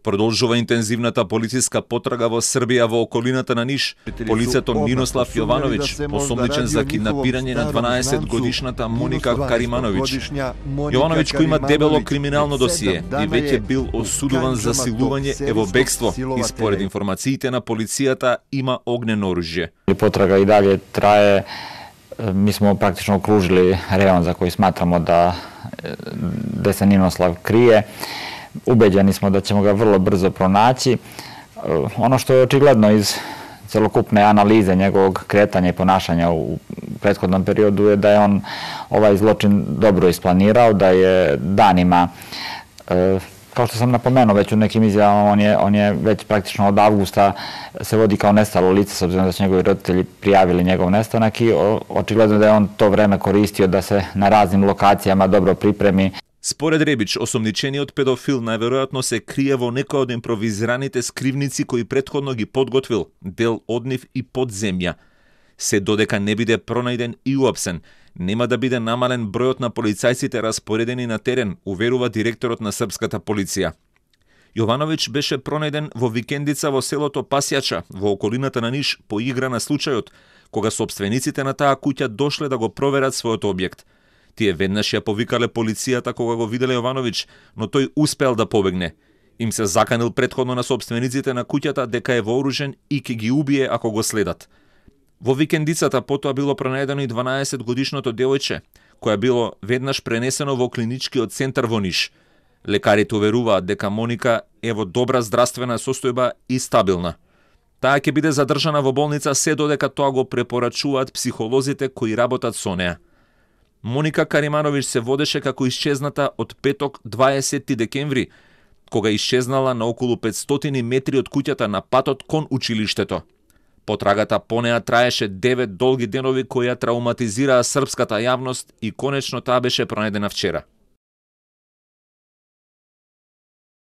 Продолжува интензивната полициска потрага во Србија во околината на Ниш. Полицето Мирослав Јовановиќ, осомничен за киднапирање на 12-годишната Моника Каримановиќ. Јовановиќ, кој има дебело криминално досие и веќе бил осудуван за силување, е во бегство и според информациите на полицијата има огнено оружје. Потрага и дале трае. Mi smo praktično okružili rejon za koji smatramo da se Ninoslav krije. Ubeđeni smo da ćemo ga vrlo brzo pronaći. Ono što je očigledno iz celokupne analize njegovog kretanja i ponašanja u prethodnom periodu je da je on ovaj zločin dobro isplanirao, da je danima, kao što sam napomenuo već u nekim izjavama, on je već praktično od avgusta se vodi kao nestalo lice, s obzirom da su njegovi roditelji prijavili njegov nestanak i očigledno da je on to vreme koristio da se na raznim lokacijama dobro pripremi. Според Ребич, осомничениот педофил најверојатно се крие во некој од импровизираните скривници кои претходно ги подготвил, дел од нив и под земја. Се додека не биде пронајден и уапсен, нема да биде намален бројот на полицајците распоредени на терен, уверува директорот на српската полиција. Јовановиќ беше пронајден во викендица во селото Пасјача, во околината на Ниш, по игра на случајот, кога собствениците на таа куќа дошле да го проверат својот објект. Тие веднаш ја повикале полицијата кога го виделе Јовановиќ, но тој успел да побегне. Им се заканил претходно на собствениците на куќата дека е вооружен и ќе ги убие ако го следат. Во викендицата потоа било пронајдено и 12-годишното девојче, која било веднаш пренесено во клиничкиот центар во Ниш. Лекарите уверуваат дека Моника е во добра здравствена состојба и стабилна. Таа ќе биде задржана во болница се додека тоа го препорачуваат психолозите кои работат со неа. Моника Каримановиќ се водеше како исчезната од петок 20 декември, кога исчезнала на околу 500 метри од куќата на патот кон училиштето. Потрагата по неа траеше 9 долги денови кои ја трауматизираа српската јавност и конечно таа беше пронајдена вчера.